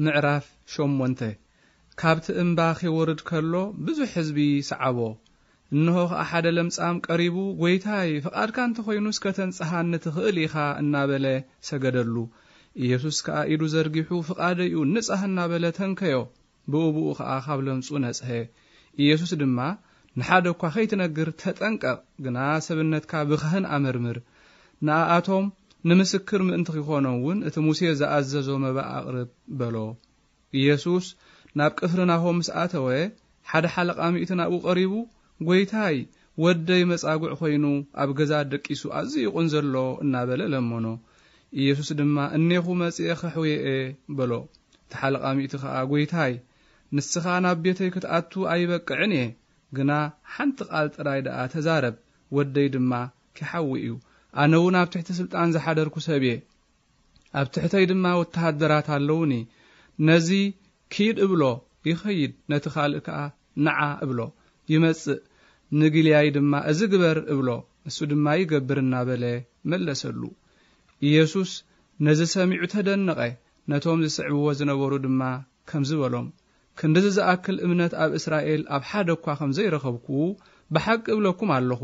ምዕራፍ ሸሞንተ። ካብቲ እምባ ኺወርድ ከሎ ብዙሕ ህዝቢ ሰዓቦ። እንሆ ኸኣ ሓደ ለምጻም ቀሪቡ፣ "ጐይታይ፣ ፍቓድካ እንተ ኾይኑስ ከተንጽሃኒ ትኽእል ኢኻ" እናበለ ሰገደሉ። ኢየሱስ ከኣ ኢዱ ዘርጊሑ፣ "ፍቓደይ እዩ፣ ንጻህ" እናበለ ተንከዮ። ብኡ ብኡ ኸኣ ካብ ለምጹ ነጽሀ። ኢየሱስ ድማ፣ "ንሓደ እኳ ኸይትነግር ተጠንቀቕ፣ ግና ሰብነትካ ብኻህን ኣመርምር። ንኣኣቶም ንምስክር ምእንቲ ኺኾኖም እውን እቲ ሙሴ ዝኣዘዞ መባእ ኣቕርብ" በሎ። ኢየሱስ ናብ ቅፍርናሆም ምስ ኣተወ፣ ሓደ ሓለቓ ሚእቲ ናብኡ ቀሪቡ፣ "ጐይታይ፣ ወደይ መጻጉዕ ኾይኑ ኣብ ገዛ ደቂሱ ኣዝዩ ይቑን ዘሎ" እናበለ ለመኖ። ኢየሱስ ድማ፣ "እኔኹ መጺኤ ኸሕውዮ እየ" በሎ። እቲ ሓለቓ ሚእቲ ኸኣ፣ "ጐይታይ፣ ንስኻ ናብ ቤተይ ክትኣቱ ኣይበቅዕን እየ፣ ግና ሓንቲ ቃል ጥራይ ደኣ ተዛረብ፣ ወደይ ድማ ኪሓዊ እዩ። ኣነ እውን ኣብ ትሕቲ ስልጣን ዝሓደርኩ ሰብ እየ፣ ኣብ ትሕተይ ድማ ወተሃደራት ኣለዉኒ። ነዚ ኪድ እብሎ፣ ይኸይድ፣ ነቲ ካልእ ከኣ ንዓ እብሎ፣ ይመጽእ፣ ንግልያይ ድማ እዚ ግበር እብሎ፣ ንሱ ድማ ይገብር" እናበለ መለሰሉ። ኢየሱስ ነዚ ሰሚዑ ተደነቐ፣ ነቶም ዝስዕብዎ ዝነበሩ ድማ ከምዚ በሎም፣ "ክንድዚ ዝኣክል እምነት ኣብ እስራኤል ኣብ ሓደ እኳ ከም ዘይረኸብኩ ብሓቂ እብለኩም ኣለኹ፣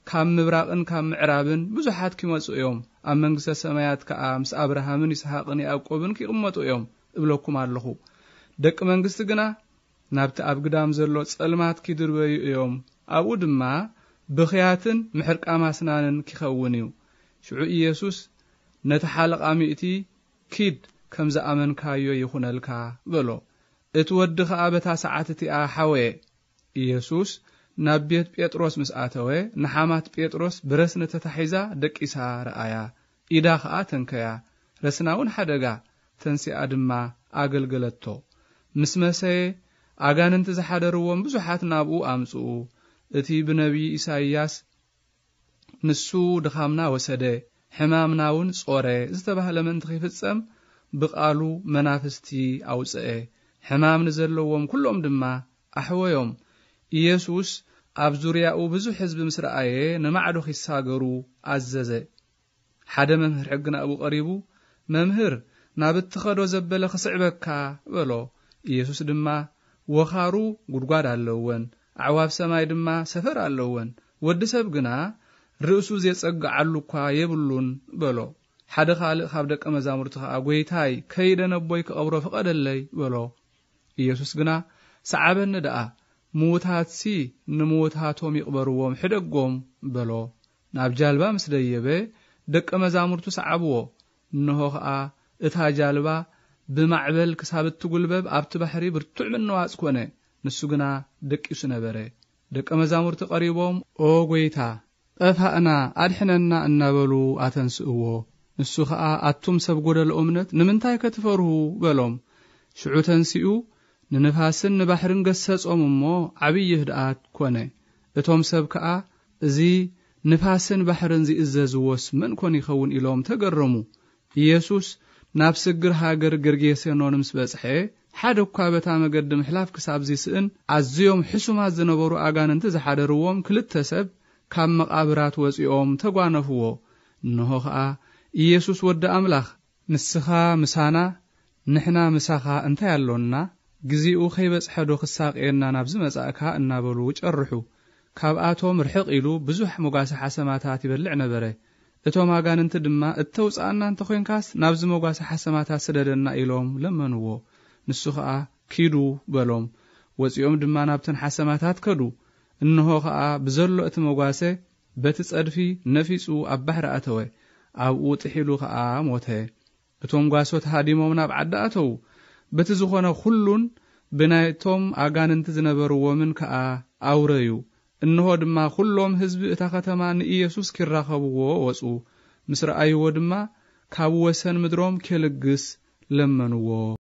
ካብ ምብራቕን ካብ ምዕራብን ብዙሓት ኪመጹ እዮም፣ ኣብ መንግስተ ሰማያት ከኣ ምስ ኣብርሃምን ይስሃቅን ያዕቆብን ኪቕመጡ እዮም እብለኩም ኣለኹ። ደቂ መንግስቲ ግና ናብቲ ኣብ ግዳም ዘሎ ጸልማት ኪድርበዩ እዮም፣ ኣብኡ ድማ ብኽያትን ምሕርቃም ኣስናንን ኪኸውን እዩ።" ሽዑ ኢየሱስ ነቲ ሓለቓ ሚእቲ፣ "ኪድ፣ ከም ዝኣመንካዮ ይኹነልካ" በሎ። እቲ ወዲ ኸኣ በታ ሰዓት እቲኣ ሓወየ። ኢየሱስ ናብ ቤት ጴጥሮስ ምስ ኣተወ፣ ንሓማት ጴጥሮስ ብረስኒ ተታሒዛ ደቂሳ ረኣያ። ኢዳ ኸኣ ተንከያ፣ ረስና እውን ሓደጋ፣ ተንሲኣ ድማ ኣገልገለቶ። ምስ መሰየ፣ ኣጋንንቲ ዝሓደርዎም ብዙሓት ናብኡ ኣምጽኡ። እቲ ብነቢይ ኢሳይያስ፣ "ንሱ ድኻምና ወሰደ፣ ሕማምና እውን ጾረ" ዝተባህለ ምእንቲ ኺፍጸም፣ ብቓሉ መናፍስቲ ኣውጽአ። ሕማም ንዘለዎም ኩሎም ድማ ኣሕወዮም። ኢየሱስ ኣብ ዙርያኡ ብዙሕ ህዝቢ ምስ ረኣየ፣ ንማዕዶ ኺሳገሩ ኣዘዘ። ሓደ መምህር ሕጊ ናብኡ ቀሪቡ፣ "መምህር፣ ናብ እትኸዶ ዘበለ ክስዕበካ" በሎ። ኢየሱስ ድማ፣ "ወኻሩ ጒድጓድ ኣለወን፣ ኣዕዋፍ ሰማይ ድማ ሰፈር ኣለወን፣ ወዲ ሰብ ግና ርእሱ ዜጸግዓሉ እኳ የብሉን" በሎ። ሓደ ኻልእ ካብ ደቀ መዛሙርቲ ኸኣ፣ "ጐይታይ፣ ከይደ ነቦይ ክቐብሮ ፍቐደለይ" በሎ። ኢየሱስ ግና፣ "ሰዓበኒ ደኣ፣ ምዉታትሲ ንምዉታቶም ይቕበርዎም፣ ሕደጎም" በሎ። ናብ ጃልባ ምስ ደየበ፣ ደቀ መዛሙርቱ ሰዓብዎ። እንሆ ኸኣ፣ እታ ጃልባ ብማዕበል ክሳብ እትጉልበብ ኣብቲ ባሕሪ ብርቱዕ ምንዋጽ ኮነ። ንሱ ግና ደቂሱ ነበረ። ደቀ መዛሙርቲ ቀሪቦም፣ "ኦ ጐይታ፣ ጠፋእና፣ ኣድሕነና" እናበሉ ኣተንስእዎ። ንሱ ኸኣ፣ "ኣቱም ሰብ ጐደሎ እምነት፣ ንምንታይ ከ ትፈርሁ?" በሎም። ሽዑ ተንሲኡ፣ ንንፋስን ንባሕርን ገሰጾም እሞ፣ ዓብዪ ህድኣት ኮነ። እቶም ሰብ ከኣ፣ "እዚ ንፋስን ባሕርን ዚእዘዝዎስ መን ኮን ይኸውን?" ኢሎም ተገረሙ። ኢየሱስ ናብ ስግር ሃገር ጌርጌሴኖን ምስ በጽሐ፣ ሓደ እኳ በታ መገዲ ምሕላፍ ክሳብ ዚስእን፣ ኣዝዮም ሕሱማት ዝነበሩ ኣጋንንቲ ዝሓደርዎም ክልተ ሰብ ካብ መቓብራት ወጺኦም ተጓነፍዎ። እንሆ ኸኣ፣ "ኢየሱስ ወዲ ኣምላኽ፣ ንስኻ ምሳና፣ ንሕና ምሳኻ እንታይ ኣሎና? ግዜኡ ኸይበጽሐዶ ክሳቕየና ናብዚ መጻእካ?" እናበሉ ጨርሑ። ካብኣቶም ርሕቕ ኢሉ ብዙሕ መጓሰ ሓሰማታት ይበልዕ ነበረ። እቶም ኣጋንንቲ ድማ፣ "እተውጽኣና እንተ ኾይንካስ፣ ናብዚ መጓሰ ሓሰማታት ስደደና" ኢሎም ለመንዎ። ንሱ ኸኣ፣ "ኪዱ" በሎም። ወጺኦም ድማ ናብተን ሓሰማታት ከዱ። እንሆ ኸኣ፣ ብዘሎ እቲ መጓሰ በቲ ጸድፊ ነፊጹ ኣብ ባሕሪ ኣተወ። ኣብኡ ጥሒሉ ኸኣ ሞተ። እቶም ጓሶት ሃዲሞም ናብ ዓዲ ኣተዉ። በቲ ዝኾነ ኹሉን ብናይቶም ኣጋንንቲ ዝነበርዎምን ከኣ ኣውረዩ። እንሆ ድማ፣ ኹሎም ህዝቢ እታ ኸተማ ንኢየሱስ ኪራኸብዎ ወጹ። ምስ ረኣይዎ ድማ፣ ካብ ወሰን ምድሮም ኬልግስ ለመንዎ።